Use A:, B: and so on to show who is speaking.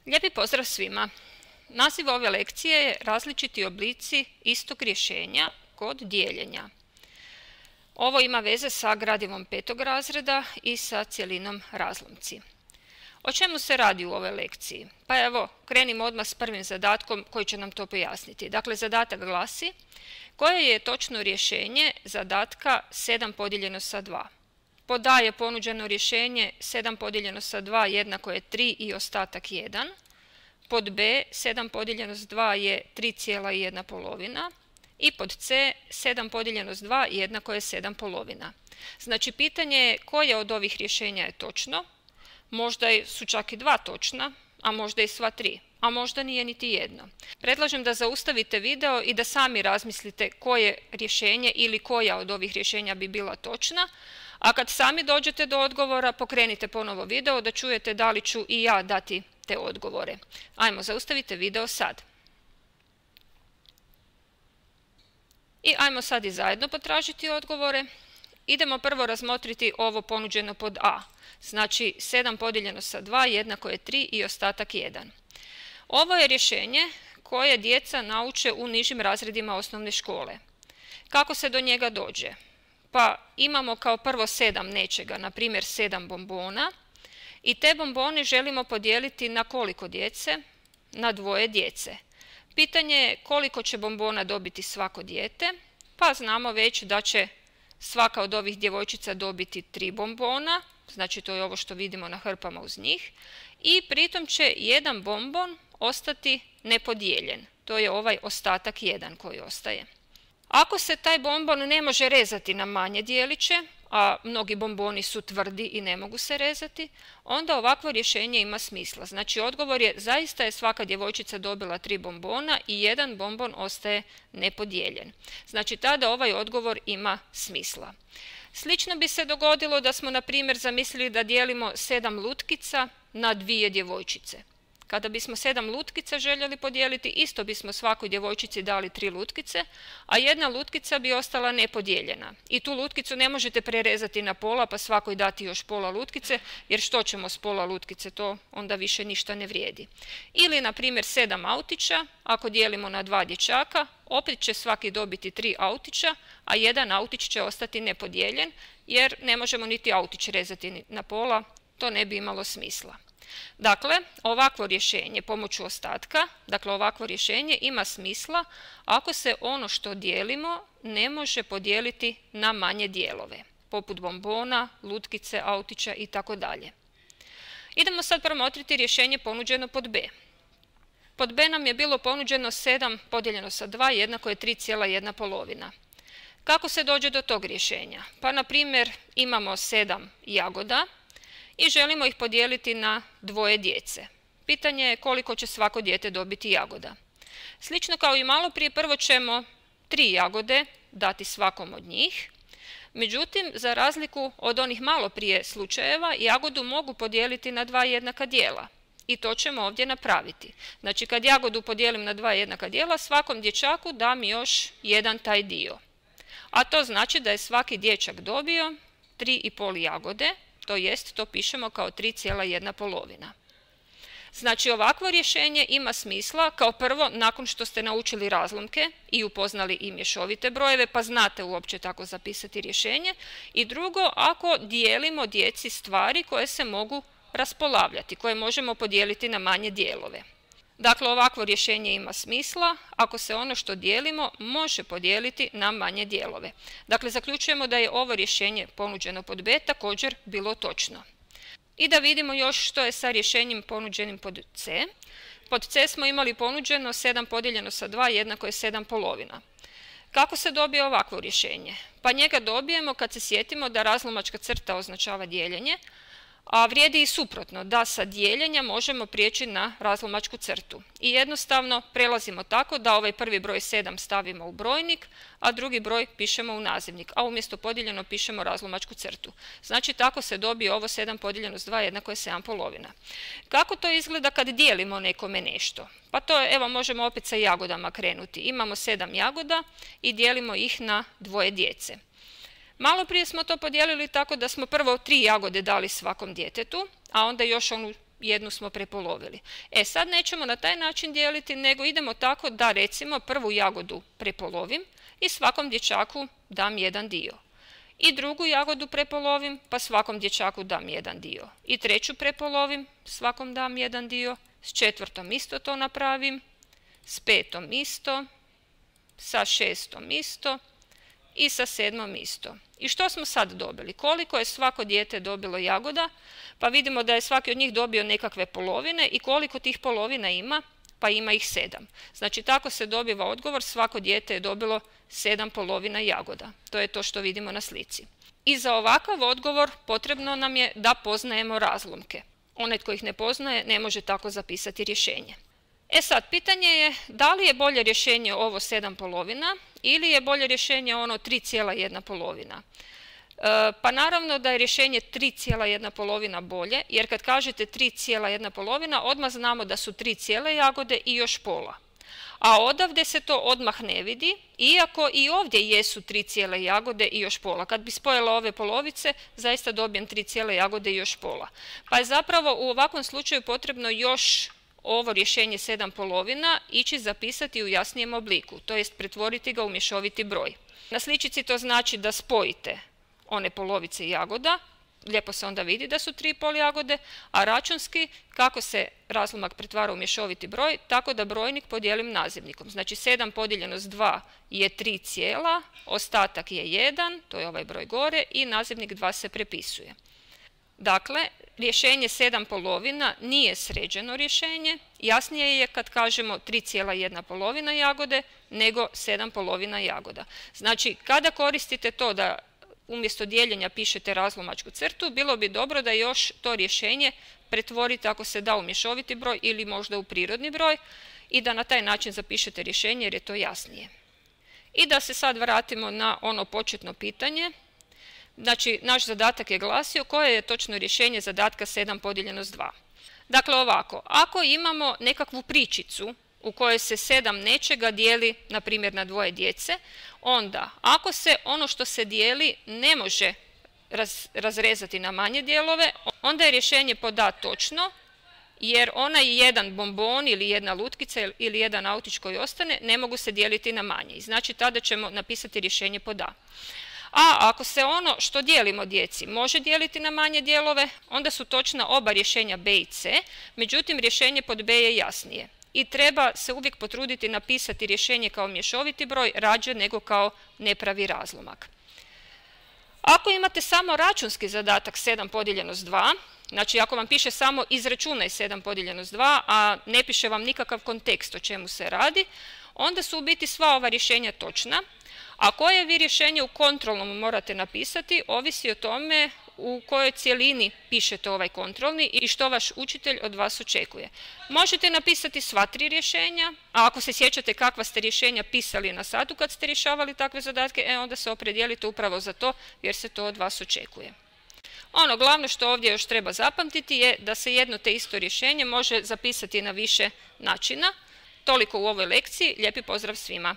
A: Lijepi pozdrav svima! Naziv ove lekcije je različiti oblici istog rješenja kod dijeljenja. Ovo ima veze sa gradivom 5. razreda i sa cjelinom razlomci. O čemu se radi u ovoj lekciji? Pa evo, krenimo odmah s prvim zadatkom koji će nam to pojasniti. Dakle, zadatak glasi: koje je točno rješenje zadatka 7 podijeljeno sa 2? Pod A je ponuđeno rješenje 7 podijeljeno sa 2 jednako je 3 i ostatak 1. Pod B 7 podijeljeno s 2 je 3,1 i pod C 7 podijeljeno s 2 jednako je 7 polovina. Znači pitanje je koje od ovih rješenja je točno. Možda su čak i 2 točna, a možda i sva 3, a možda nije niti jedno. Predlažem da zaustavite video i da sami razmislite koje rješenje ili koja od ovih rješenja bi bila točna, a kad sami dođete do odgovora pokrenite ponovo video da čujete da li ću i ja dati te odgovore. Ajmo, zaustavite video sad. I ajmo sad i zajedno potražiti odgovore. Idemo prvo razmotriti ovo ponuđeno pod A. Znači 7 podijeljeno sa 2 jednako je 3 i ostatak 1. Ovo je rješenje koje djeca nauče u nižim razredima osnovne škole. Kako se do njega dođe? Pa imamo kao prvo 7 nečega, na primjer 7 bombona, i te bombone želimo podijeliti na koliko djece? Na 2 djece. Pitanje je koliko će bombona dobiti svako dijete, pa znamo već da će svaka od ovih djevojčica dobiti 3 bombona, znači to je ovo što vidimo na hrpama uz njih, i pritom će jedan bombon ostati nepodijeljen, to je ovaj ostatak 1 koji ostaje. Ako se taj bombon ne može rezati na manje dijeliće, a mnogi bomboni su tvrdi i ne mogu se rezati, onda ovakvo rješenje ima smisla. Znači odgovor je zaista je svaka djevojčica dobila 3 bombona i jedan bombon ostaje nepodijeljen. Znači tada ovaj odgovor ima smisla. Slično bi se dogodilo da smo na primjer zamislili da dijelimo 7 lutkica na 2 djevojčice. Kada bismo 7 lutkica željeli podijeliti, isto bismo svakoj djevojčici dali 3 lutkice, a jedna lutkica bi ostala nepodijeljena. I tu lutkicu ne možete prerezati na pola pa svakoj dati još pola lutkice, jer što ćemo s pola lutkice, to onda više ništa ne vrijedi. Ili na primjer 7 autića, ako dijelimo na 2 dječaka, opet će svaki dobiti 3 autića, a jedan autić će ostati nepodijeljen, jer ne možemo niti autić rezati na pola, to ne bi imalo smisla. Dakle, ovakvo rješenje pomoću ostatka, dakle ovakvo rješenje ima smisla ako se ono što dijelimo ne može podijeliti na manje dijelove, poput bombona, lutkice, autića itd. Idemo sad promotriti rješenje ponuđeno pod B. Pod B nam je bilo ponuđeno 7 podijeljeno sa 2 jednako je 3,1. Kako se dođe do tog rješenja? Pa na primjer imamo 7 jagoda i želimo ih podijeliti na 2 djece. Pitanje je koliko će svako dijete dobiti jagoda. Slično kao i malo prije, prvo ćemo 3 jagode dati svakom od njih. Međutim, za razliku od onih malo prije slučajeva, jagodu mogu podijeliti na 2 jednaka dijela. I to ćemo ovdje napraviti. Znači, kad jagodu podijelim na 2 jednaka dijela, svakom dječaku dam još jedan taj dio. A to znači da je svaki dječak dobio 3,5 jagode, to jest to pišemo kao 3,1. Znači ovakvo rješenje ima smisla kao prvo nakon što ste naučili razlomke i upoznali i mješovite brojeve pa znate uopće tako zapisati rješenje, i drugo ako dijelimo djeci stvari koje se mogu raspolavljati, koje možemo podijeliti na manje dijelove. Dakle, ovakvo rješenje ima smisla ako se ono što dijelimo može podijeliti na manje dijelove. Dakle, zaključujemo da je ovo rješenje ponuđeno pod B također bilo točno. I da vidimo još što je sa rješenjem ponuđenim pod C. Pod C smo imali ponuđeno 7 podijeljeno sa 2 jednako je 7 polovina. Kako se dobije ovakvo rješenje? Pa njega dobijemo kad se sjetimo da razlomačka crta označava dijeljenje, a vrijedi i suprotno, da sa dijeljenja možemo prijeći na razlomačku crtu. I jednostavno prelazimo tako da ovaj prvi broj 7 stavimo u brojnik, a drugi broj pišemo u nazivnik, a umjesto podijeljeno pišemo razlomačku crtu. Znači tako se dobije ovo 7 podijeljeno s 2 jednako je 7 polovina. Kako to izgleda kad dijelimo nekome nešto? Pa to evo možemo opet sa jagodama krenuti. Imamo 7 jagoda i dijelimo ih na 2 djece. Malo prije smo to podijelili tako da smo prvo 3 jagode dali svakom djetetu, a onda još onu jednu smo prepolovili. Sad nećemo na taj način dijeliti, nego idemo tako da recimo prvu jagodu prepolovim i svakom dječaku dam jedan dio. I drugu jagodu prepolovim, pa svakom dječaku dam jedan dio. I treću prepolovim, svakom dam jedan dio. S četvrtom isto to napravim, s petom isto, sa šestom isto i sa sedmom isto. I što smo sad dobili? Koliko je svako dijete dobilo jagoda? Pa vidimo da je svaki od njih dobio nekakve polovine i koliko tih polovina ima? Pa ima ih 7. Znači tako se dobiva odgovor, svako dijete je dobilo 7 polovina jagoda. To je to što vidimo na slici. I za ovakav odgovor potrebno nam je da poznajemo razlomke. Onaj tko ih ne poznaje ne može tako zapisati rješenje. Sad, pitanje je da li je bolje rješenje ovo 7 polovina ili je bolje rješenje ono 3,1 polovina. Pa naravno da je rješenje 3,1 polovina bolje, jer kad kažete 3,1 polovina, odmah znamo da su 3 cijele jagode i još pola. A odavde se to odmah ne vidi, iako i ovdje jesu 3 cijele jagode i još pola. Kad bi spojila ove polovice, zaista dobijem 3 cijele jagode i još pola. Pa je zapravo u ovakvom slučaju potrebno još ovo rješenje 7 polovina ići zapisati u jasnijem obliku, to jest pretvoriti ga u mješoviti broj. Na sličici to znači da spojite one polovice jagoda, lijepo se onda vidi da su 3,5 jagode, a računski kako se razlomak pretvara u mješoviti broj, tako da brojnik podijelim nazivnikom. Znači 7 podijeljeno s 2 je 3 cijela, ostatak je 1, to je ovaj broj gore i nazivnik 2 se prepisuje. Dakle, rješenje 7 polovina nije sređeno rješenje, jasnije je kad kažemo 3,1 polovina jagode nego 7 polovina jagoda. Znači, kada koristite to da umjesto dijeljenja pišete razlomačku crtu, bilo bi dobro da još to rješenje pretvorite ako se da u mješoviti broj ili možda u prirodni broj i da na taj način zapišete rješenje jer je to jasnije. I da se sad vratimo na ono početno pitanje. Znači, naš zadatak je glasio koje je točno rješenje zadatka 7 podijeljeno s 2. Dakle, ovako, ako imamo nekakvu pričicu u kojoj se 7 nečega dijeli, na primjer, na dvoje djece, onda ako se ono što se dijeli ne može razrezati na manje dijelove, onda je rješenje pod A točno, jer onaj jedan bombon ili jedna lutkica ili jedan autić koji ostane ne mogu se dijeliti na manje. Znači, tada ćemo napisati rješenje pod A. A ako se ono što dijelimo djeci može dijeliti na manje dijelove, onda su točna oba rješenja B i C, međutim rješenje pod B je jasnije. I treba se uvijek potruditi napisati rješenje kao mješoviti broj rađe nego kao nepravi razlomak. Ako imate samo računski zadatak 7 podijeljeno s 2, znači ako vam piše samo izračunaj 7 podijeljeno s 2, a ne piše vam nikakav kontekst o čemu se radi, onda su u biti sva ova rješenja točna. A koje vi rješenje u kontrolnom morate napisati, ovisi o tome u kojoj cjelini pišete ovaj kontrolni i što vaš učitelj od vas očekuje. Možete napisati sva 3 rješenja, a ako se sjećate kakva ste rješenja pisali na satu kad ste rješavali takve zadatke, onda se opredijelite upravo za to jer se to od vas očekuje. Ono glavno što ovdje još treba zapamtiti je da se jedno te isto rješenje može zapisati na više načina. Toliko u ovoj lekciji, lijepi pozdrav svima!